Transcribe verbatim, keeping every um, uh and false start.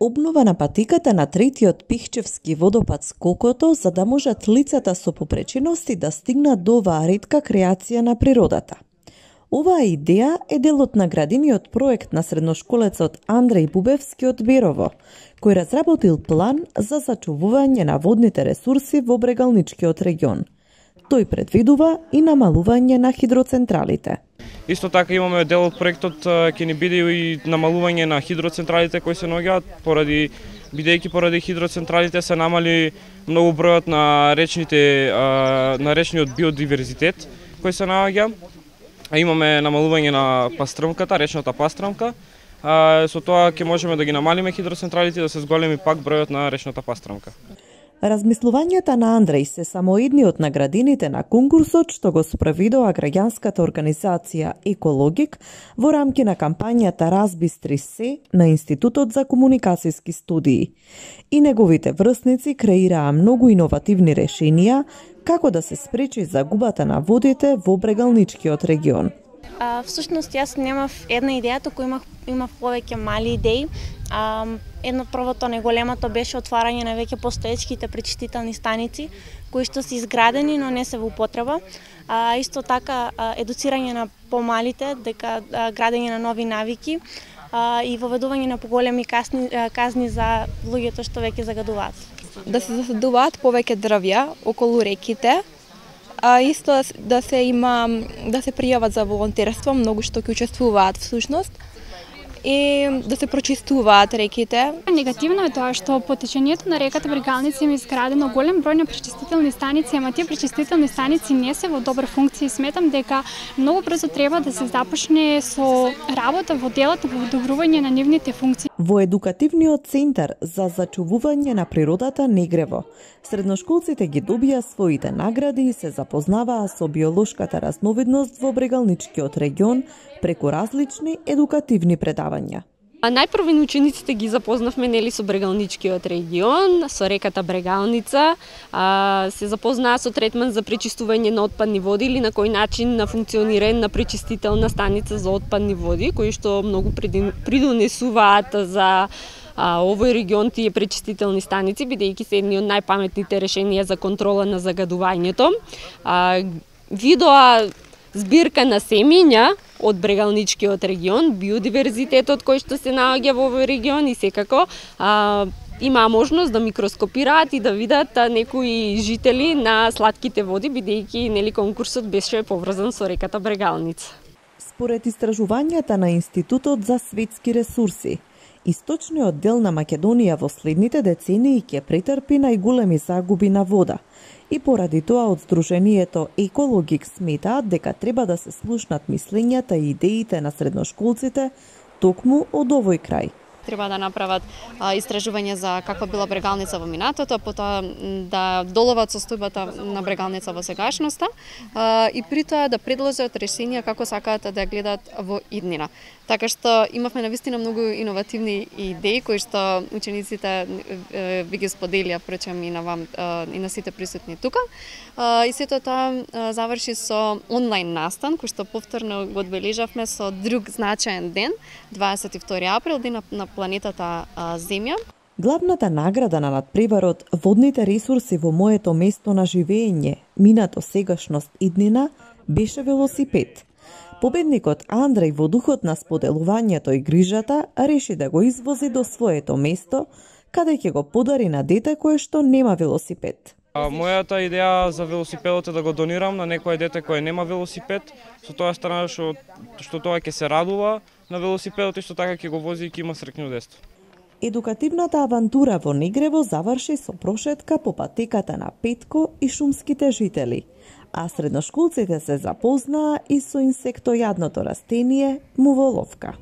Обнова на патиката на третиот Пихчевски водопад Скокото, за да можат лицата со попречености да стигнат до оваа ретка креација на природата. Оваа идеја е дел од наградениот проект на средношколецот Андреј Бубевски од Берово, кој разработил план за зачувување на водните ресурси во Брегалничкиот регион. Тој предвидува и намалување на хидроцентралите. Исто така имаме дел од проектот ќе ни биде и намалување на хидроцентралите кои се наоѓаат поради бидејќи поради хидроцентралите се намали многу бројот на речните на речниот биодиверзитет кој се наоѓа. А имаме намалување на пастрмката, речната пастрмка. А, со тоа ќе можеме да ги намалиме хидроцентралите и да се зголеми пак бројот на речната пастрмка. Размислувањата на Андреј се само едни од наградените на конкурсот што го спроведува граѓанската организација Екологик во рамки на кампањата Разбистри се на Институтот за комуникацијски студии. И неговите врсници креираа многу иновативни решенија како да се спречи загубата на водите во Брегалничкиот регион. А, всушност јас немав една идеја, туку имав имав повеќе мали идеи. А, едно првото неголемото беше отварање на веќе постоечките пречистителни станици кои што се изградени, но не се во употреба. А, исто така а, едуцирање на помалите дека а, градење на нови навики а, и воведување на поголеми казни, а, казни за луѓето што веќе загадуваат. Да се засадуваат повеќе дрвја околу реките. А исто да се има да се пријават за волонтерство, многу што ќе учествуваат всушност, и да се прочистуваат реките. Негативно е тоа што по течењето на реката Брегалница има изградено голем број на пречистителни станици, ама тие пречистителни станици не се во добра функција и сметам дека многу брзо треба да се започне со работа во делот на подобрување на нивните функции. Во едукативниот центар за зачувување на природата Негрево, средношколците ги добија своите награди и се запознаваа со биолошката разновидност во Брегалничкиот регион преку различни едукативни предавања. А најпрво учениците ги запознавме нели со Брегалничкиот регион, со реката Брегалница, а, се запознаа со третман за пречистување на отпадни води или на кој начин на функционирање на пречистителна станица за отпадни води, кои што многу придонесуваат за а, овој регион тие пречистителни станици, бидејќи се едни од најпаметните решенија за контрола на загадувањето. А, видоа збирка на семења од Брегалничкиот регион, биодиверзитетот кој што се наоѓа во овој регион и секако а, имаа можност да микроскопираат и да видат а, некои жители на слатките води, бидејќи нели конкурсот беше поврзан со реката Брегалница. Според истражувањата на Институтот за светски ресурси, источниот дел на Македонија во следните децении ќе претрпи најголеми загуби на вода. И поради тоа од Сдруженијето Екологик сметаат дека треба да се слушнат мислењата и идеите на средношколците токму од овој крај. Треба да направат а, истражување за каква била Брегалница во минатото, потоа да доловат состојбата на Брегалница во сегашноста а, и при тоа да предложат решенија како сакаат да ја гледат во иднина. Така што имавме навистина многу иновативни идеи кои што учениците ви ги споделија впрочем и на вам и на сите присутни тука. И сето тоа заврши со онлайн настан кој што повторно го одбележавме со друг значаен ден, дваесет и втори април, ден на планетата Земја. Главната награда на надпреварот Водните ресурси во моето место на живење, минато, сегашност, иднина, беше велосипед. Победникот Андреј во духот на споделувањето и грижата реши да го извози до своето место, каде ќе го подари на дете кое што нема велосипед. Мојата идеја за велосипедот е да го донирам на некое дете кое нема велосипед, со тоа страна што, што тоа ќе се радува на велосипедот и што така ќе го вози и ќе има среќно детство. Едукативната авантура во Негрево заврши со прошетка по патеката на Петко и шумските жители, а средношколците се запознаа и со инсектојадното растение муволовка.